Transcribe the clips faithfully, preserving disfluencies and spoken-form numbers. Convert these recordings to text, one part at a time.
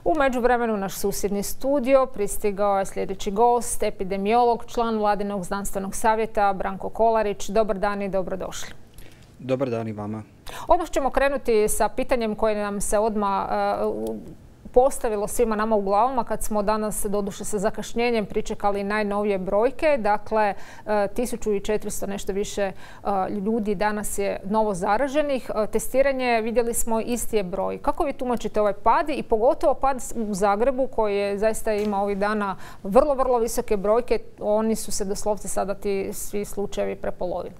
U međuvremenu naš susjedni studio pristigao je sljedeći gost, epidemiolog, član Vladinog znanstvenog savjeta Branko Kolarić. Dobar dan i dobrodošli. Dobar dan i vama. Odmah ćemo krenuti sa pitanjem koje nam se odmah uh, postavilo svima nama u glavama kad smo danas, doduše sa zakašnjenjem, pričekali najnovije brojke. Dakle, tisuću četiristo nešto više ljudi danas je novo zaraženih. Testiranje, vidjeli smo, isti je broj. Kako vi tumačite ovaj pad i pogotovo pad u Zagrebu koji je zaista ima ovih dana vrlo, vrlo visoke brojke? Oni su se doslovce sada ti svi slučajevi prepolovili.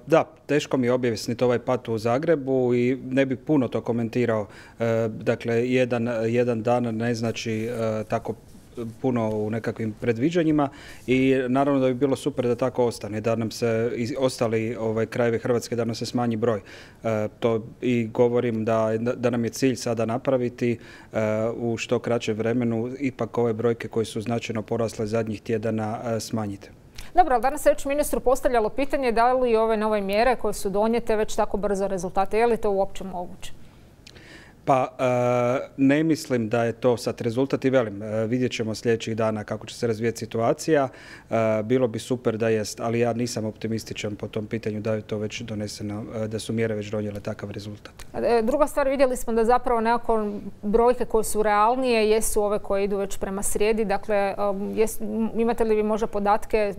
Da, teško mi je objasniti ovaj pad u Zagrebu i ne bih puno to komentirao. Dakle, jedan, jedan dan ne znači tako puno u nekakvim predviđanjima i naravno da bi bilo super da tako ostane, da nam se ostali ovaj, krajevi Hrvatske, da nam se smanji broj. E, to i govorim da, da nam je cilj sada napraviti e, u što kraćem vremenu ipak ove brojke koje su značajno porasle zadnjih tjedana e, smanjite. Dobro, ali danas se već ministru postavljalo pitanje da li ove nove mjere koje su donijete već tako brzo rezultate. Je li to uopće moguće? Pa ne mislim da je to sad rezultat i velim, vidjet ćemo sljedećih dana kako će se razvijeti situacija. Bilo bi super da jest, ali ja nisam optimističan po tom pitanju da je to već doneseno, da su mjere već donijele takav rezultat. Druga stvar, vidjeli smo da zapravo nekako brojke koje su realnije jesu ove koje idu već prema srijedi. Dakle, jes, imate li vi možda podatke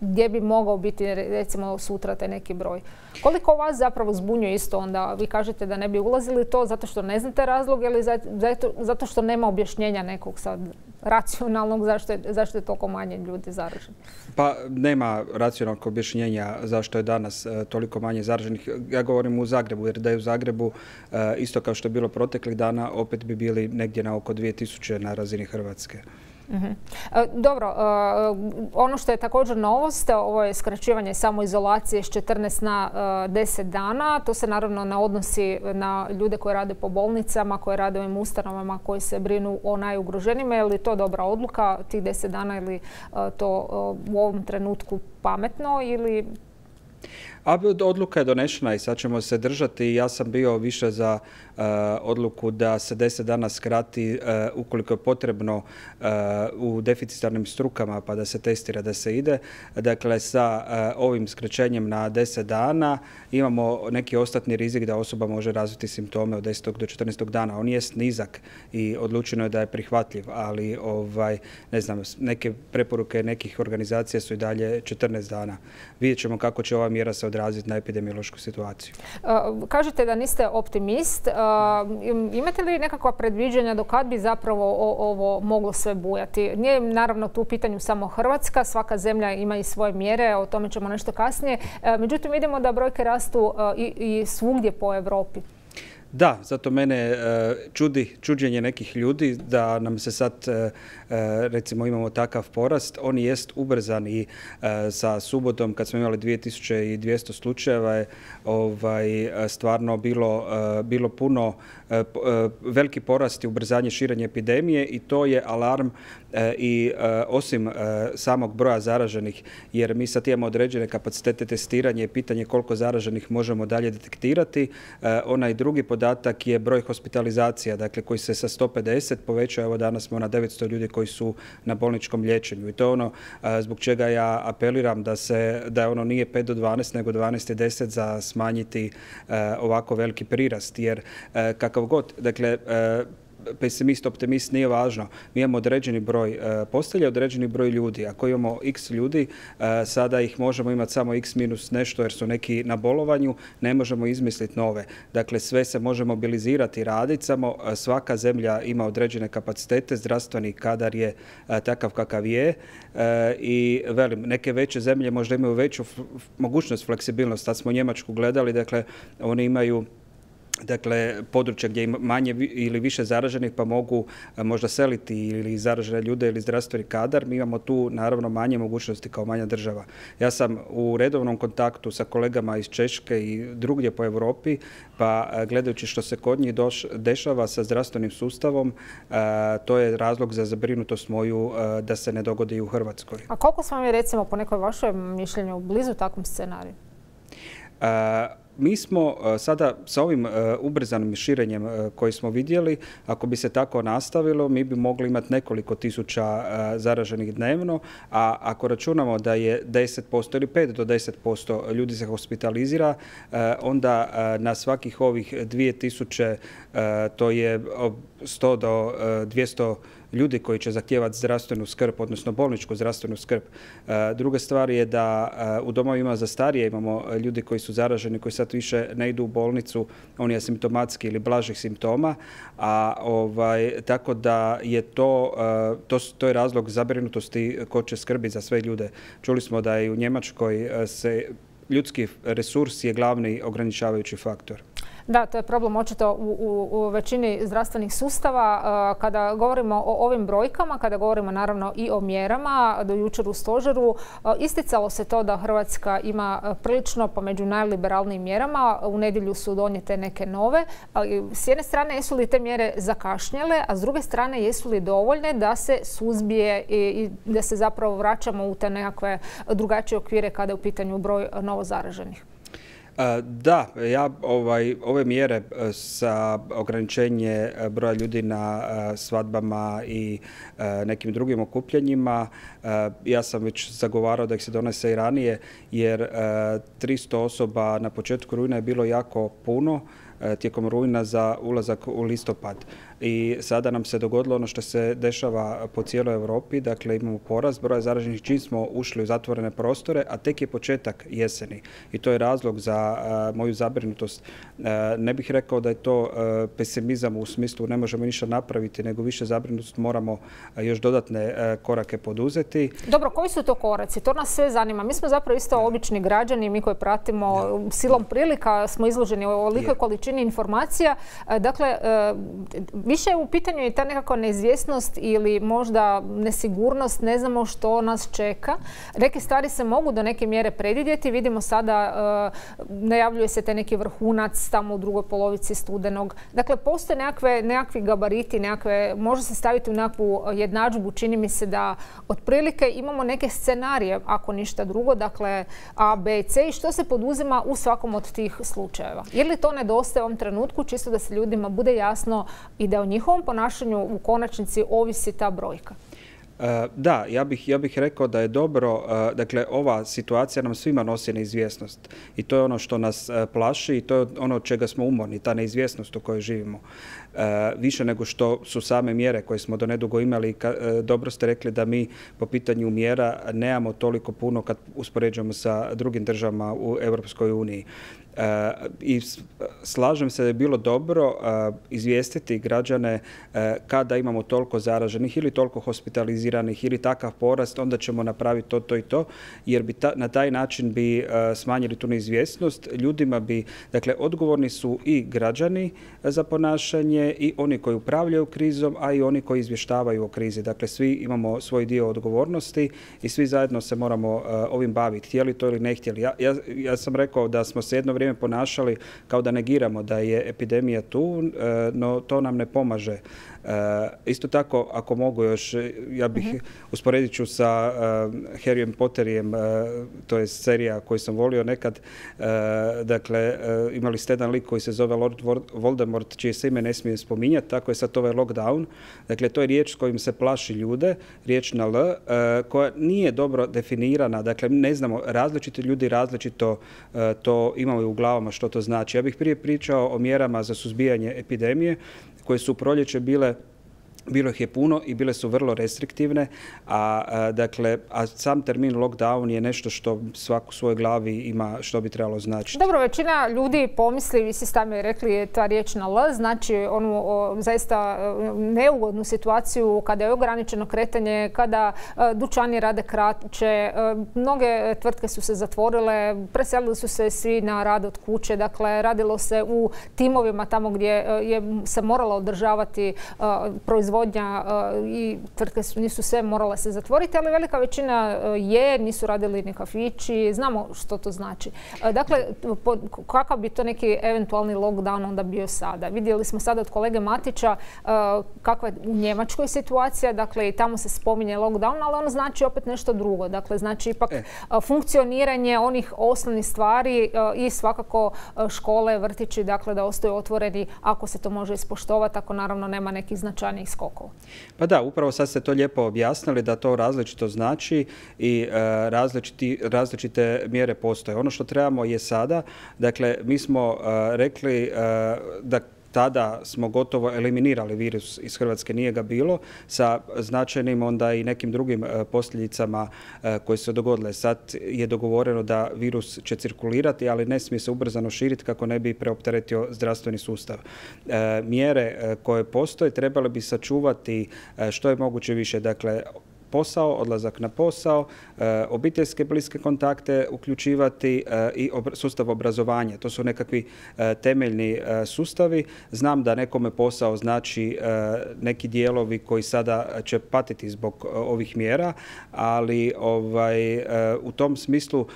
gdje bi mogao biti recimo sutra taj neki broj? Koliko vas zapravo zbunjuje isto onda? Vi kažete da ne bi ulazili to zato što ne znate razlog ili zato, zato što nema objašnjenja nekog sad racionalnog zašto je, zašto je toliko manje ljudi zaraženi? Pa nema racionalnog objašnjenja zašto je danas uh, toliko manje zaraženih. Ja govorim u Zagrebu, jer da je u Zagrebu uh, isto kao što je bilo proteklih dana, opet bi bili negdje na oko dvije tisuće na razini Hrvatske. Mm-hmm. Dobro, ono što je također novost, ovo je skraćivanje samoizolacije s četrnaest na deset dana. To se naravno ne odnosi na ljude koji rade po bolnicama, koji rade u ovim ustanovama koji se brinu o najugroženijima. Je li to dobra odluka, tih deset dana, ili to u ovom trenutku pametno ili... A odluka je donešena i sad ćemo se držati. Ja sam bio više za uh, odluku da se deset dana skrati uh, ukoliko je potrebno uh, u deficitarnim strukama pa da se testira, da se ide. Dakle, sa uh, ovim skraćenjem na deset dana imamo neki ostatni rizik da osoba može razviti simptome od desetog do četrnaestog dana. On jest nizak i odlučeno je da je prihvatljiv, ali ovaj, ne znam, neke preporuke nekih organizacija su i dalje četrnaest dana. Vidjet ćemo kako će ova mjera se odraziti na epidemiološku situaciju. Uh, kažete da niste optimist. Uh, imate li nekakva predviđanja do kad bi zapravo o, ovo moglo sve bujati? Nije naravno tu u pitanju samo Hrvatska, svaka zemlja ima i svoje mjere, o tome ćemo nešto kasnije. Uh, međutim, vidimo da brojke rastu uh, i, i svugdje po Europi. Da, zato mene uh, čudi čuđenje nekih ljudi da nam se sad, uh, recimo, imamo takav porast. On jest ubrzan i uh, sa subotom kad smo imali dvije tisuće dvjesto slučajeva je ovaj, stvarno bilo, uh, bilo puno uh, uh, veliki porast i ubrzanje širenja epidemije i to je alarm uh, i uh, osim uh, samog broja zaraženih, jer mi sad imamo određene kapacitete testiranja i pitanje koliko zaraženih možemo dalje detektirati. Uh, onaj drugi podatak Podatak je broj hospitalizacija, dakle koji se sa sto pedeset povećao, evo danas smo na devetsto ljudi koji su na bolničkom liječenju. I to je ono a, zbog čega ja apeliram da se da ono nije pet do dvanaest nego dvanaest i deset za smanjiti a, ovako veliki prirast, jer a, kakav god, dakle a, pesimist, optimist nije važno. Mi imamo određeni broj postelja, određeni broj ljudi. Ako imamo x ljudi, sada ih možemo imati samo x minus nešto jer su neki na bolovanju, ne možemo izmisliti nove. Dakle, sve se može mobilizirati i raditi, samo svaka zemlja ima određene kapacitete, zdravstveni kadar je takav kakav je i velim, neke veće zemlje možda imaju veću mogućnost fleksibilnost. Tad smo Njemačku gledali, dakle, oni imaju dakle, područja gdje ima manje ili više zaraženih pa mogu možda seliti ili zaražene ljude ili zdravstveni kadar. Mi imamo tu naravno manje mogućnosti kao manja država. Ja sam u redovnom kontaktu sa kolegama iz Češke i drugdje po Europi, pa gledajući što se kod njih doš, dešava sa zdravstvenim sustavom, a, to je razlog za zabrinutost moju a, da se ne dogodi i u Hrvatskoj. A koliko smo mi recimo po nekoj vašoj mišljenju blizu takvom scenariju? A, mi smo sada sa ovim ubrzanim širenjem koji smo vidjeli, ako bi se tako nastavilo, mi bi mogli imati nekoliko tisuća zaraženih dnevno, a ako računamo da je deset posto ili pet do deset posto ljudi se hospitalizira, onda na svakih ovih dvije tisuće to je sto do dvjesto ljudi koji će zahtijevati zdravstvenu skrb, odnosno bolničku zdravstvenu skrb. Druga stvar je da u domovima za starije imamo ljudi koji su zaraženi, koji sad više ne idu u bolnicu, oni asimptomatski ili blažih simptoma, a ovaj, tako da je to, to, to je razlog zabrinutosti ko će skrbiti za sve ljude. Čuli smo da i u Njemačkoj se ljudski resurs je glavni ograničavajući faktor. Da, to je problem očito u, u, u većini zdravstvenih sustava. Kada govorimo o ovim brojkama, kada govorimo naravno i o mjerama, do jučer u stožeru isticalo se to da Hrvatska ima prilično pa među najliberalnijim mjerama. U nedjelju su donijete neke nove. S jedne strane jesu li te mjere zakašnjele, a s druge strane jesu li dovoljne da se suzbije i da se zapravo vraćamo u te nekakve drugačije okvire kada je u pitanju broj novozaraženih? Da, ja ovaj, ove mjere sa ograničenje broja ljudi na svadbama i nekim drugim okupljanjima, ja sam već zagovarao da ih se donese i ranije, jer tristo osoba na početku rujna je bilo jako puno tijekom rujna za ulazak u listopad. I sada nam se dogodilo ono što se dešava po cijeloj Europi, dakle imamo porast broja zaraženih čim smo ušli u zatvorene prostore, a tek je početak jeseni. I to je razlog za uh, moju zabrinutost. Uh, ne bih rekao da je to uh, pesimizam u smislu ne možemo ništa napraviti, nego više zabrinutost moramo uh, još dodatne uh, korake poduzeti. Dobro, koji su to koraci? To nas sve zanima. Mi smo zapravo isto da. obični građani, mi koji pratimo da. silom prilika, smo izloženi u ovolikoj količini informacija. Uh, dakle, uh, više je u pitanju i ta nekakva neizvjesnost ili možda nesigurnost, ne znamo što nas čeka. Neke stvari se mogu do neke mjere predvidjeti. Vidimo sada, uh, najavljuje se te neki vrhunac tamo u drugoj polovici studenog. Dakle, postoje nekakve, nekakvi gabariti, nekakve, može se staviti u nekakvu jednadžbu. Čini mi se da otprilike imamo neke scenarije, ako ništa drugo, dakle A, B i C, i što se poduzima u svakom od tih slučajeva. Je li to nedostaje u ovom trenutku, čisto da se ljudima bude jasno i da o njihovom ponašanju u konačnici ovisi ta brojka? Da, ja bih, ja bih rekao da je dobro, dakle ova situacija nam svima nosi neizvjesnost i to je ono što nas plaši i to je ono od čega smo umorni, ta neizvjesnost u kojoj živimo. Više nego što su same mjere koje smo do nedugo imali. Dobro ste rekli da mi po pitanju mjera nemamo toliko puno kad uspoređujemo sa drugim državama u Europskoj uniji. I slažem se da je bilo dobro izvijestiti građane kada imamo toliko zaraženih ili toliko hospitaliziranih ili takav porast, onda ćemo napraviti to, to i to, jer bi ta, na taj način bi smanjili tu neizvjesnost. Ljudima bi, dakle, odgovorni su i građani za ponašanje i oni koji upravljaju krizom, a i oni koji izvještavaju o krizi. Dakle, svi imamo svoj dio odgovornosti i svi zajedno se moramo ovim baviti, htjeli to ili ne htjeli. Ja, ja, ja sam rekao da smo se jedno vrijeme ponašali kao da negiramo da je epidemija tu, no to nam ne pomaže. Isto tako, ako mogu još, ja bih uh-huh. usporedit ću sa Harryjem Potterijem, to je serija koju sam volio nekad. Dakle, imali ste jedan lik koji se zove Lord Voldemort, čije se ime ne smije spominjati, tako je sad ovaj lockdown. Dakle, to je riječ s kojim se plaši ljude, riječ na L, koja nije dobro definirana. Dakle, ne znamo, različiti ljudi različito to imamo u glavama što to znači. Ja bih prije pričao o mjerama za suzbijanje epidemije koje su u proljeće bile, bilo ih je puno i bile su vrlo restriktivne, a, a, dakle, a sam termin lockdown je nešto što svak u svojoj glavi ima što bi trebalo značiti. Dobro, većina ljudi pomisli, vi ste sami rekli, je ta riječ na L, znači onu o, zaista neugodnu situaciju kada je ograničeno kretanje, kada a, dućani rade kraće, a, mnoge tvrtke su se zatvorile, preselili su se svi na rad od kuće, dakle radilo se u timovima tamo gdje a, je se morala održavati a, proizvodnja proizvodnja i tvrtke nisu sve morale se zatvoriti, ali velika većina je, nisu radili ni kafići, znamo što to znači. Dakle, kakav bi to neki eventualni lockdown onda bio sada? Vidjeli smo sada od kolege Matića kakva je u Njemačkoj situacija, dakle i tamo se spominje lockdown, ali ono znači opet nešto drugo. Dakle, znači ipak e. funkcioniranje onih osnovnih stvari i svakako škole, vrtići, dakle da ostaju otvoreni ako se to može ispoštovati, ako naravno nema nekih značajnijih skokova. Pa da, upravo sad ste to lijepo objasnili da to različito znači i e, različiti, različite mjere postoje. Ono što trebamo je sada, dakle mi smo e, rekli e, da tada smo gotovo eliminirali virus iz Hrvatske, nije ga bilo, sa značajnim onda i nekim drugim posljedicama koje su se dogodile. Sad je dogovoreno da virus će cirkulirati, ali ne smije se ubrzano širiti kako ne bi preopteretio zdravstveni sustav. Mjere koje postoje trebale bi sačuvati što je moguće više, dakle, posao, odlazak na posao, obiteljske bliske kontakte uključivati i sustav obrazovanja. To su nekakvi temeljni sustavi. Znam da nekome posao znači neki dijelovi koji sada će patiti zbog ovih mjera, ali ovaj, u tom smislu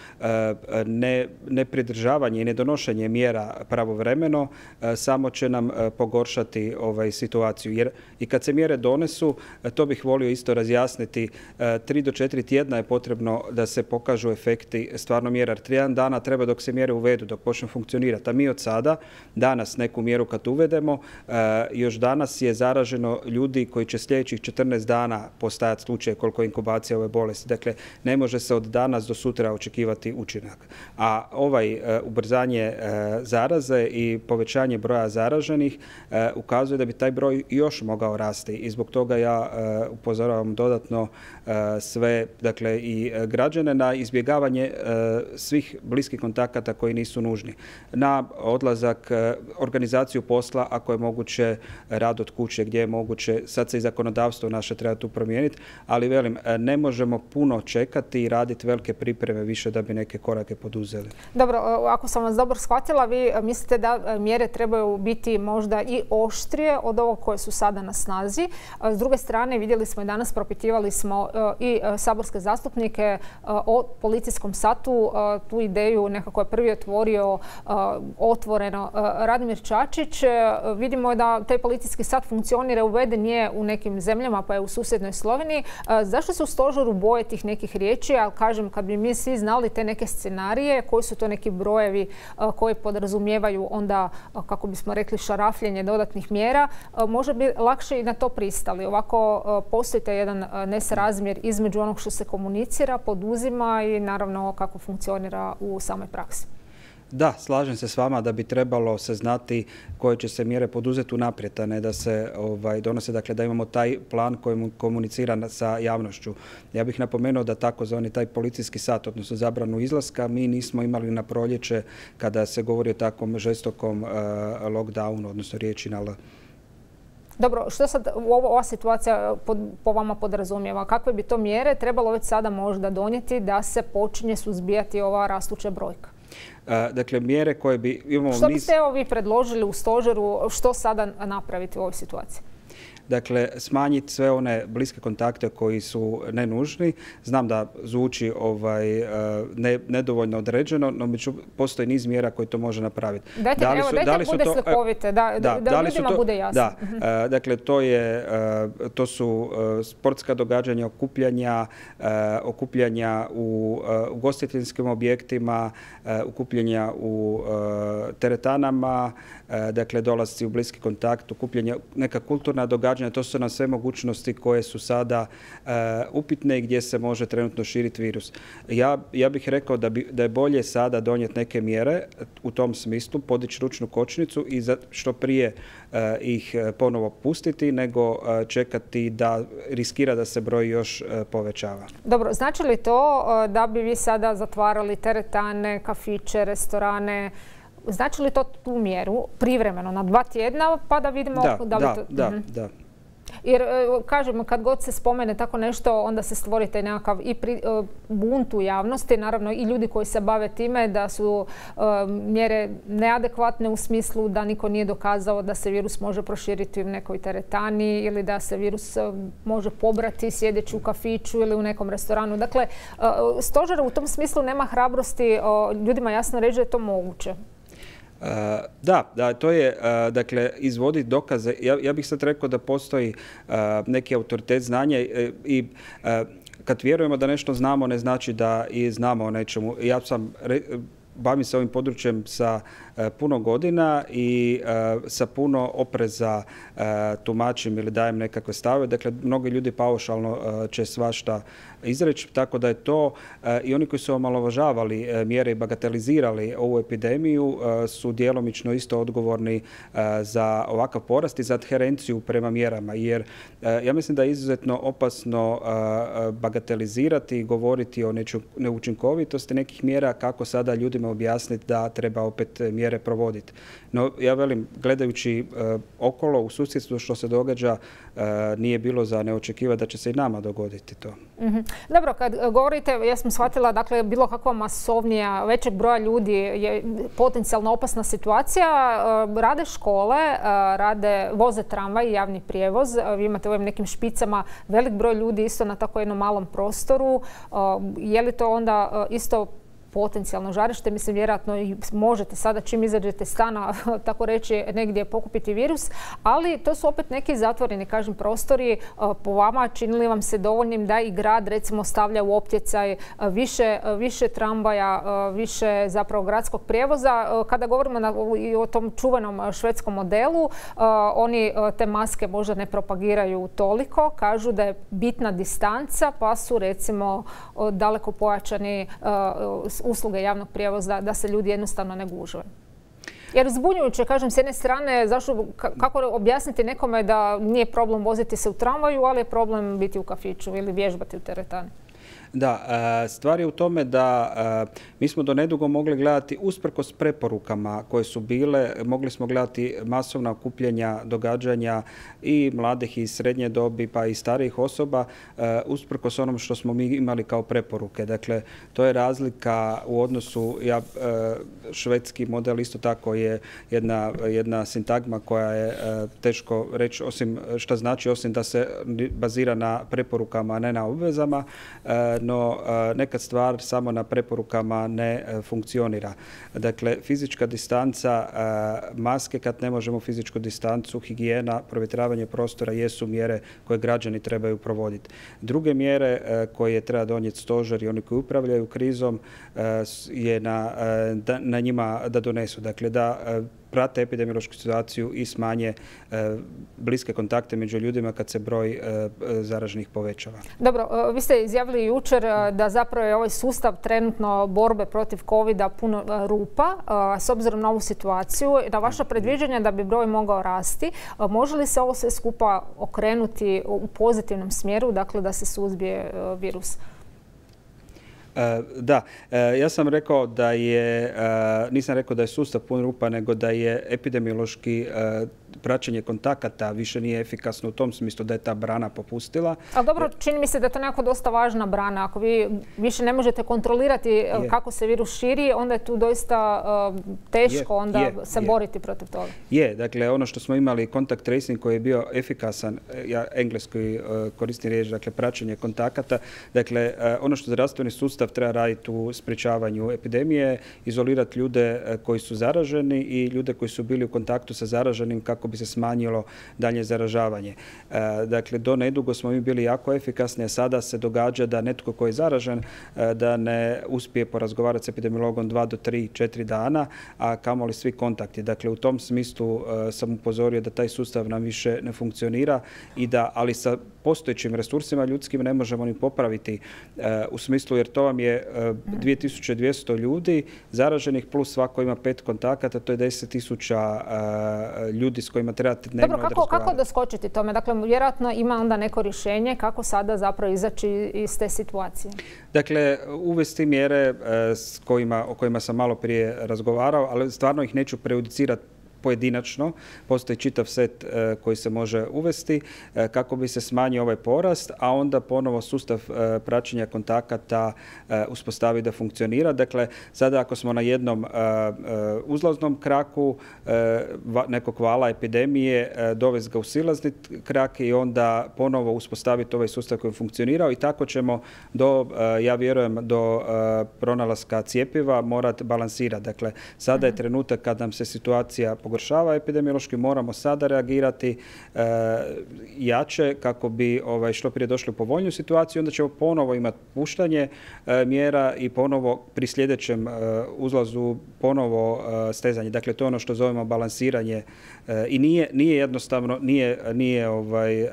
ne, nepridržavanje i nedonošenje mjera pravovremeno samo će nam pogoršati ovaj, situaciju. Jer i kad se mjere donesu, to bih volio isto razjasniti, tri do četiri tjedna je potrebno da se pokažu efekti stvarno mjera. Trijedan dana treba dok se mjere uvedu, dok počnu funkcionirati. A mi od sada, danas neku mjeru kad uvedemo, još danas je zaraženo ljudi koji će sljedećih četrnaest dana postajati slučaj koliko je inkubacija ove bolesti. Dakle, ne može se od danas do sutra očekivati učinak. A ovaj ubrzanje zaraze i povećanje broja zaraženih ukazuje da bi taj broj još mogao rasti. I zbog toga ja upozoravam dodatno sve, dakle i građane na izbjegavanje svih bliskih kontakata koji nisu nužni. Na odlazak, organizaciju posla, ako je moguće, rad od kuće gdje je moguće. Sad se i zakonodavstvo naše treba tu promijeniti, ali velim, ne možemo puno čekati i raditi velike pripreme više da bi neke korake poduzeli. Dobro, ako sam vas dobro shvatila, vi mislite da mjere trebaju biti možda i oštrije od ovog koje su sada na snazi. S druge strane, vidjeli smo i danas, propitivali smo i saborske zastupnike o policijskom satu. Tu ideju nekako je prvi otvorio otvoreno Radimir Čačić. Vidimo da taj policijski sat funkcionira, uveden je u nekim zemljama, pa je u susjednoj Sloveniji. Zašto se u stožeru boje tih nekih riječi? Ali kažem, kad bi mi svi znali te neke scenarije, koji su to neki brojevi koji podrazumijevaju onda, kako bismo rekli, šarafljenje dodatnih mjera, možda bi lakše i na to pristali. Ovako postoji jedan nesrazmjer između onog što se komunicira, poduzima i naravno kako funkcionira u samoj praksi. Da, slažem se s vama da bi trebalo se znati koje će se mjere poduzeti unaprijed, a ne da se ovaj, donose, dakle da imamo taj plan koji komunicira sa javnošću. Ja bih napomenuo da takozvani taj policijski sat, odnosno zabranu izlaska, mi nismo imali na proljeće kada se govori o takvom žestokom uh, lockdownu, odnosno riječi na L. Dobro, što sad ova situacija pod, po vama podrazumijeva? Kakve bi to mjere trebalo već sada možda donijeti da se počinje suzbijati ova rastuća brojka? Dakle, mjere koje bi... Imamo što biste niz... vi predložili u stožeru, što sada napraviti u ovoj situaciji? Dakle, smanjiti sve one bliske kontakte koji su nenužni. Znam da zvuči ovaj, ne, nedovoljno određeno, no među, postoji niz mjera koji to može napraviti. Dajte, da li su, evo, dajte da li bude to, slikovite, da, da, da, da ljudima to, bude jasno. Da, uh-huh. Dakle, to, je, to su sportska događanja, okupljanja, okupljanja u ugostiteljskim objektima, okupljanja u teretanama, dakle, dolasci u bliski kontakt, okupljanja, neka kulturna događanja. To su nam sve mogućnosti koje su sada uh, upitne i gdje se može trenutno širiti virus. Ja, ja bih rekao da, bi, da je bolje sada donijeti neke mjere u tom smislu, podići ručnu kočnicu i za, što prije uh, ih ponovo pustiti, nego uh, čekati da riskira da se broj još uh, povećava. Dobro, znači li to uh, da bi vi sada zatvarali teretane, kafiće, restorane? Znači li to tu mjeru privremeno na dva tjedna pa da vidimo da, da li da, to... Da, uh-huh. da. Jer, kažem, kad god se spomene tako nešto, onda se stvori taj nekakav i pri, bunt u javnosti, naravno i ljudi koji se bave time da su mjere neadekvatne u smislu da niko nije dokazao da se virus može proširiti u nekoj teretani ili da se virus može pobrati sjedeći u kafiću ili u nekom restoranu. Dakle, stožer u tom smislu nema hrabrosti ljudima jasno reći da je to moguće. Uh, da, da, to je, uh, dakle, izvoditi dokaze. Ja, ja bih sad rekao da postoji uh, neki autoritet znanja i, i uh, kad vjerujemo da nešto znamo, ne znači da i znamo o nečemu. Ja sam, re, bavim se ovim područjem sa uh, puno godina i uh, sa puno opreza uh, tumačim ili dajem nekakve stave. Dakle, mnogi ljudi paušalno uh, će svašta izreći, tako da je to uh, i oni koji su omalovažavali uh, mjere i bagatelizirali ovu epidemiju uh, su djelomično isto odgovorni uh, za ovakav porast i za adherenciju prema mjerama. Jer uh, ja mislim da je izuzetno opasno uh, bagatelizirati i govoriti o neučinkovitosti nekih mjera, kako sada ljudima objasniti da treba opet mjere provoditi. No, ja velim, gledajući uh, okolo u susjedstvu što se događa, uh, nije bilo za neočekivati da će se i nama dogoditi to. Mm-hmm. Dobro, kad govorite, ja sam shvatila, dakle, bilo kakva masovnija, većeg broja ljudi je potencijalno opasna situacija. Uh, rade škole, uh, rade, voze tramvaj, javni prijevoz. Uh, vi imate u ovim nekim špicama velik broj ljudi isto na tako jednom malom prostoru. Uh, je li to onda uh, isto potencijalno žarište? Mislim, vjerojatno i možete sada čim izađete stana, tako reći, negdje pokupiti virus, ali to su opet neki zatvoreni, kažem, prostori. Po vama, činili vam se dovoljnim da i grad, recimo, stavlja u optjecaj više, više tramvaja, više zapravo gradskog prijevoza? Kada govorimo na, i o tom čuvenom švedskom modelu, oni te maske možda ne propagiraju toliko, kažu da je bitna distanca, pa su, recimo, daleko pojačani usluge javnog prijevoza, da se ljudi jednostavno ne gužve. Jer zbunjujuće, kažem, s jedne strane, zašto, kako objasniti nekome da nije problem voziti se u tramvaju, ali je problem biti u kafiću ili vježbati u teretani? Da, stvar je u tome da mi smo do nedugo mogli gledati, usprkos preporukama koje su bile, mogli smo gledati masovna okupljanja, događanja i mladih i srednje dobi, pa i starijih osoba, usprkos onom što smo mi imali kao preporuke. Dakle, to je razlika u odnosu, ja, švedski model isto tako je jedna, jedna sintagma koja je teško reći, osim što znači, osim da se bazira na preporukama, a ne na obvezama, no nekad stvar samo na preporukama ne funkcionira. Dakle, fizička distanca, maske kad ne možemo fizičku distancu, higijena, provjetravanje prostora jesu mjere koje građani trebaju provoditi. Druge mjere koje treba donijeti stožer i oni koji upravljaju krizom je na, na njima da donesu. Dakle, da prate epidemiološku situaciju i smanje e, bliske kontakte među ljudima kad se broj e, zaraženih povećava. Dobro, vi ste izjavili jučer da zapravo je ovaj sustav trenutno borbe protiv kovida puno rupa. S obzirom na ovu situaciju, na vaša predviđanja da bi broj mogao rasti, može li se ovo sve skupa okrenuti u pozitivnom smjeru, dakle da se suzbije virus? Da, ja sam rekao da je, nisam rekao da je sustav pun rupa, nego da je epidemiološki praćenje kontakata više nije efikasno u tom smislu da je ta brana popustila. Ali dobro, čini mi se da je to nekako dosta važna brana. Ako vi više ne možete kontrolirati je. kako se virus širi, onda je tu doista uh, teško je. onda je. se je. boriti protiv toga. Je, dakle, ono što smo imali kontakt tracing koji je bio efikasan, ja engleski uh, koristim riječ, dakle, praćenje kontakata, dakle, uh, ono što zdravstveni sustav treba raditi u sprječavanju epidemije, izolirati ljude uh, koji su zaraženi i ljude koji su bili u kontaktu sa zaraženim kako bi se smanjilo dalje zaražavanje. E, dakle, do nedugo smo mi bili jako efikasni, a sada se događa da netko koji je zaražen e, da ne uspije porazgovarati s epidemiologom dva do tri, četiri dana, a kamoli svi kontakti. Dakle, u tom smislu e, sam upozorio da taj sustav nam više ne funkcionira i da, ali sa postojećim resursima ljudskim ne možemo ni popraviti e, u smislu, jer to vam je e, dvije tisuće dvjesto ljudi zaraženih plus svako ima pet kontakata, to je deset tisuća e, ljudi s kojima trebate dnevno razgovarati. Dobro, kako, kako doskočiti tome? Dakle, vjerojatno ima onda neko rješenje kako sada zapravo izaći iz te situacije. Dakle, uvesti mjere s kojima, o kojima sam malo prije razgovarao, ali stvarno ih neću prejudicirati pojedinačno. Postoji čitav set koji se može uvesti kako bi se smanjio ovaj porast, a onda ponovo sustav praćenja kontakata uspostavi da funkcionira. Dakle, sada ako smo na jednom uzlaznom kraku nekog vala epidemije, dovesti ga u silazni krak i onda ponovo uspostaviti ovaj sustav koji je funkcionirao i tako ćemo do, ja vjerujem, do pronalaska cjepiva morati balansirati. Dakle, sada je trenutak kad nam se situacija pogoršava epidemiološki, moramo sada reagirati jače kako bi ovaj, što prije došli u povoljniju situaciju, onda ćemo ponovo imati puštanje mjera i ponovo pri sljedećem uzlazu ponovo stezanje. Dakle, to je ono što zovemo balansiranje i nije, nije jednostavno, nije, nije ovaj,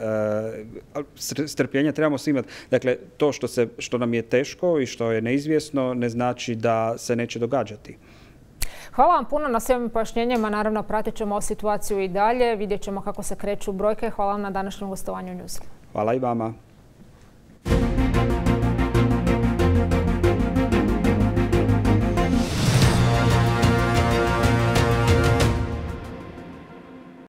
strpljenja, trebamo svi imati. Dakle, to što, se, što nam je teško i što je neizvjesno ne znači da se neće događati. Hvala vam puno na svim pojašnjenjima. Naravno, pratit ćemo situaciju i dalje. Vidjet ćemo kako se kreću brojke. Hvala vam na današnjem gostovanju u Newsu. Hvala i vama.